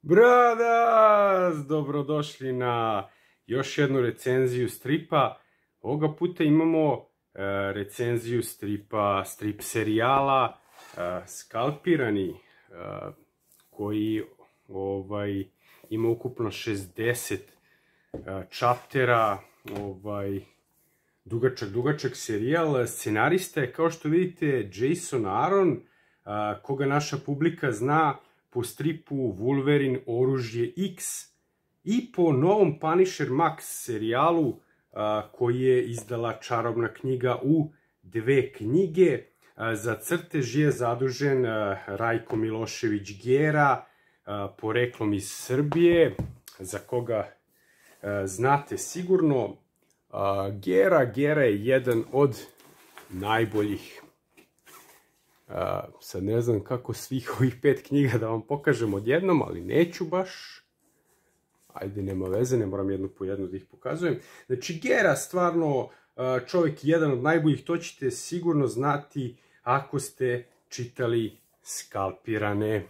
Bradas! Dobrodošli na još jednu recenziju stripa. Ovoga puta imamo recenziju strip serijala Skalpirani, koji ima ukupno 60 čaptera, dugačak serijal. Scenarista je, kao što vidite, Jason Aaron, koga naša publika zna po stripu Wolverine oružje X i po novom Punisher Max serijalu koji je izdala Čarobna knjiga u 2 knjige. Za crtež je zadužen Rajko Milošević Gera, poreklom iz Srbije, za koga znate sigurno. Gera je jedan od najboljih. Sad ne znam kako svih ovih 5 knjiga da vam pokažem odjednom, ali neću baš. Ajde, nema veze, ne moram jednu po jednu da ih pokazujem. Znači, Gera, stvarno čovjek jedan od najboljih, to ćete sigurno znati ako ste čitali Skalpirane.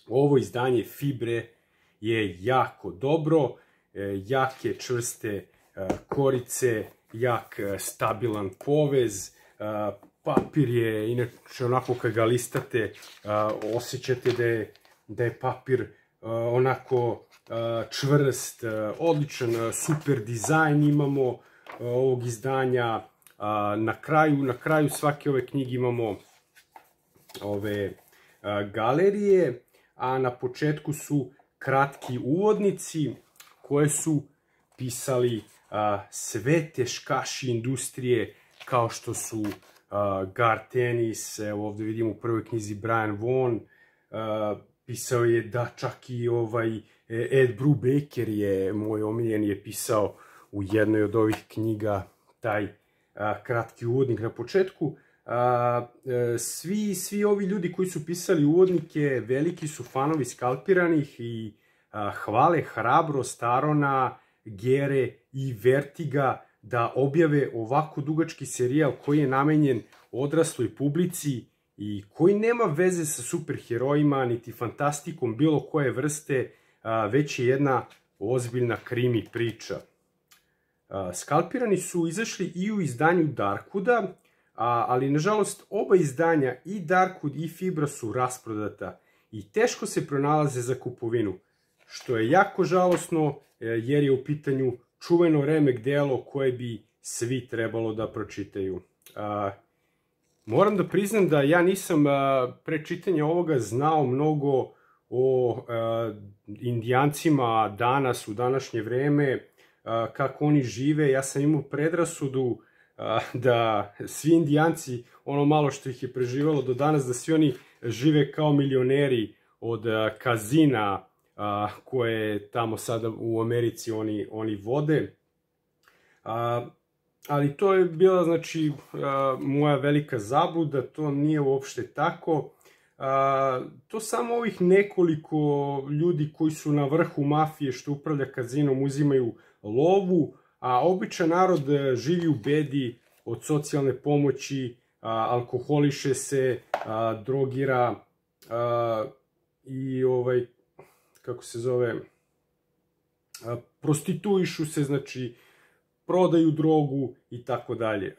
Ovo izdanje Fibre je jako dobro, jake čvrste korice, jak stabilan povez, papir je, inače onako kad ga listate, osjećate da je papir onako čvrst, odličan, super dizajn imamo ovog izdanja. Na kraju svake ove knjige imamo ove galerije, a na početku su kratki uvodnici koje su pisali sve teškaši industrije, kao što su Garth Ennis, evo ovdje vidimo u prvoj knjizi Brian Vaughan, pisao je da čak i Ed Brubaker je, moj omiljen, je pisao u jednoj od ovih knjiga taj kratki uvodnik na početku. Svi ovi ljudi koji su pisali uvodnike veliki su fanovi Skalpiranih i hvale hrabrost Arona, Gere i Vertiga da objave ovako dugački serijal koji je namenjen odrasloj publici i koji nema veze sa superherojima niti fantastikom bilo koje vrste, već je jedna ozbiljna krimi priča. Skalpirani su izašli i u izdanju Darkwooda, ali nažalost oba izdanja, i Darkwood i Fibra, su rasprodata i teško se pronalaze za kupovinu, što je jako žalosno jer je u pitanju čuveno remek delo koje bi svi trebalo da pročitaju. Moram da priznam da ja nisam pre čitanja ovoga znao mnogo o Indijancima danas, u današnje vreme, kako oni žive. Ja sam imao predrasudu da svi Indijanci, ono malo što ih je preživalo do danas, da svi oni žive kao milioneri od kazina koje tamo sada u Americi oni vode. Ali to je bila, znači, moja velika zabluda, to nije uopšte tako. To samo ovih nekoliko ljudi koji su na vrhu mafije što upravlja kazinom uzimaju lovu, a običan narod živi u bedi od socijalne pomoći, alkoholiše se, drogira i kako se zove, prostituišu se, znači prodaju drogu i tako dalje.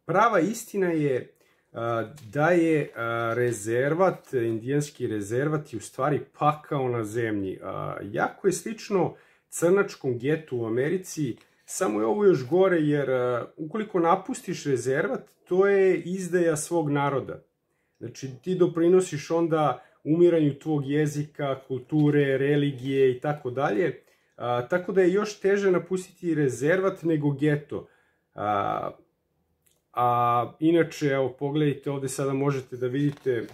Prava istina je da je rezervat, indijanski rezervat, je u stvari pakao na zemlji. Jako je slično crnačkom getu u Americi, samo je ovo još gore, jer ukoliko napustiš rezervat, to je izdaja svog naroda. Znači, ti doprinosiš onda umiranju tvog jezika, kulture, religije i tako dalje. Tako da je još teže napustiti rezervat nego geto. Inače, evo, pogledajte, ovdje sada možete da vidite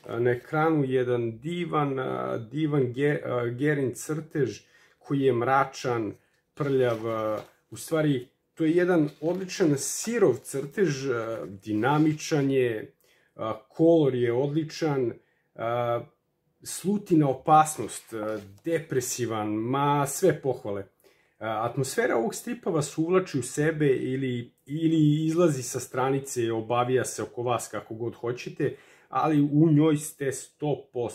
na ekranu jedan divan Gerin crtež koji je mračan, prljav. U stvari, to je jedan odličan sirov crtež, dinamičan je, kolor je odličan, sluti na opasnost, depresivan, ma sve pohvale. Atmosfera ovog stripa vas uvlači u sebe ili izlazi sa stranice, obavija se oko vas kako god hoćete, ali u njoj ste 100%.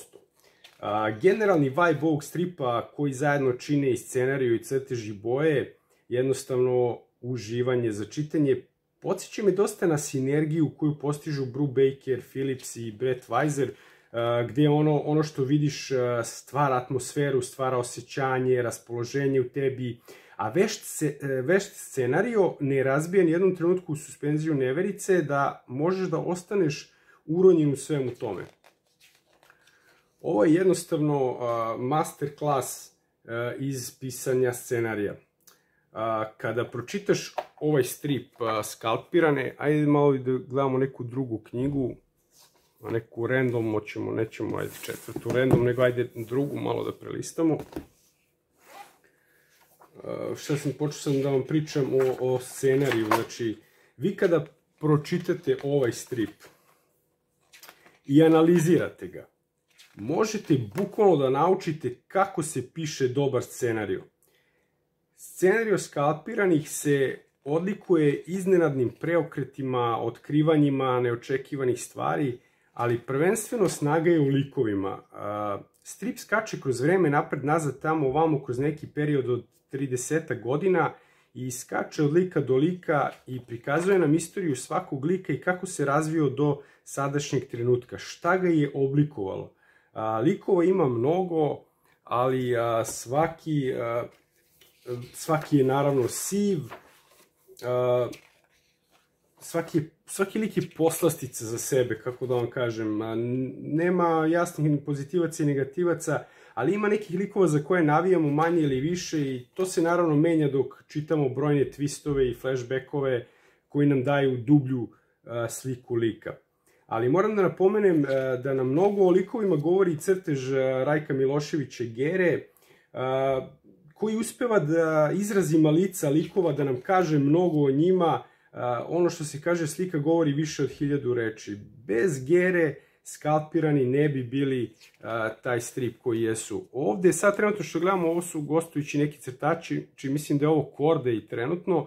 Generalni vibe ovog stripa koji zajedno čine i scenariju i crteži boje, jednostavno uživanje za čitanje. Podsjeća me dosta na sinergiju koju postižu Brubaker, Phillips i Brett Weiser, gdje ono što vidiš stvara atmosferu, stvara osjećanje, raspoloženje u tebi, a vešt scenario ne razbija ni jednom trenutku u suspenziju neverice da možeš da ostaneš uronjen u svemu tome. Ovo je jednostavno masterclass iz pisanja scenarija. Kada pročitaš ovaj strip Skalpirane, ajde malo da gledamo neku drugu knjigu, neku random, nećemo ajde četvrtu random, nego ajde drugu malo da prelistamo. Počeo sam da vam pričam o scenariju, znači vi kada pročitate ovaj strip i analizirate ga, možete bukvalno da naučite kako se piše dobar scenariju. Scenario Skalpiranih se odlikuje iznenadnim preokretima, otkrivanjima neočekivanih stvari, ali prvenstveno snaga je u likovima. Strip skače kroz vreme napred-nazad tamo ovamo kroz neki period od 30 godina i skače od lika do lika i prikazuje nam istoriju svakog lika i kako se razvio do sadašnjeg trenutka, šta ga je oblikovalo. Likova ima mnogo, ali svaki je naravno siv, svaki lik je poslastica za sebe, kako da vam kažem. Nema jasnih ni pozitivaca i negativaca, ali ima nekih likova za koje navijamo manje ili više i to se naravno menja dok čitamo brojne twistove i flashbackove koji nam daju dublju sliku lika. Ali moram da napomenem da nam mnogo o likovima govori crtež Rajka Miloševića Gere, koji uspeva da izrazi lica likova, da nam kaže mnogo o njima. Ono što se kaže, slika govori više od 1000 reči. Bez Gere Skalpirani ne bi bili taj strip koji jesu. Ovde sad trenutno što gledamo, ovo su gostujući neki crtači, čiji mislim da je ovo Corday trenutno.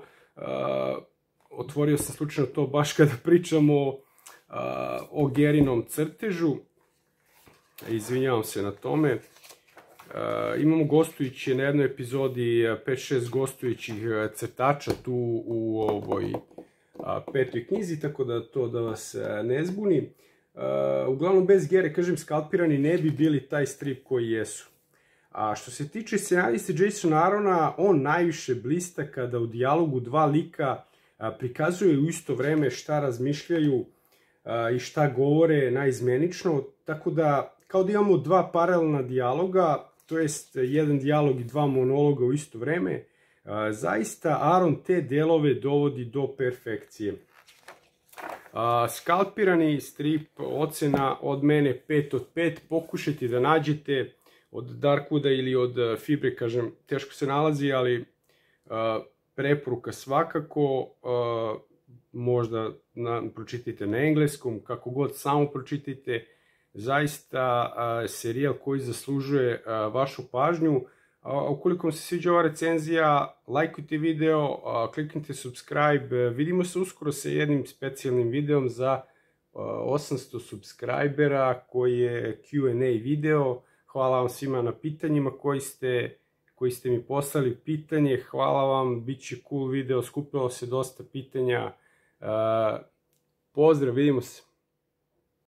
Otvorio sam slučajno to baš kada pričamo o Gerinom crtežu. Izvinjavam se na tome. Imamo gostujući na jednoj epizodi 5-6 gostujućih crtača tu u ovoj petoj knjizi, tako da to da vas ne zbuni. Uglavnom bez Gere, kažem, Skalpirani ne bi bili taj strip koji jesu. A što se tiče scenariste Jasona Aarona, on najviše blista kada u dijalogu dva lika prikazuje u isto vreme šta razmišljaju i šta govore naizmenično, tako da kao da imamo dva paralelna dijaloga, to jest jedan dijalog i dva monologa u isto vreme, zaista Aaron te delove dovodi do perfekcije. Skalpirani strip, ocena od mene 5 od 5, pokušajte da nađete od Darkwooda ili od Fibre, kažem, teško se nalazi, ali preporuka svakako, možda pročitajte na engleskom, kako god samo pročitajte, zaista serijal koji zaslužuje vašu pažnju. Ukoliko vam se sviđa ova recenzija, lajkujte video, kliknite subscribe, vidimo se uskoro sa jednim specijalnim videom za 800 subscribera koji je Q&A video. Hvala vam svima na pitanjima koji ste mi poslali pitanje, hvala vam, bit će cool video, skupilo se dosta pitanja. Pozdrav, vidimo se.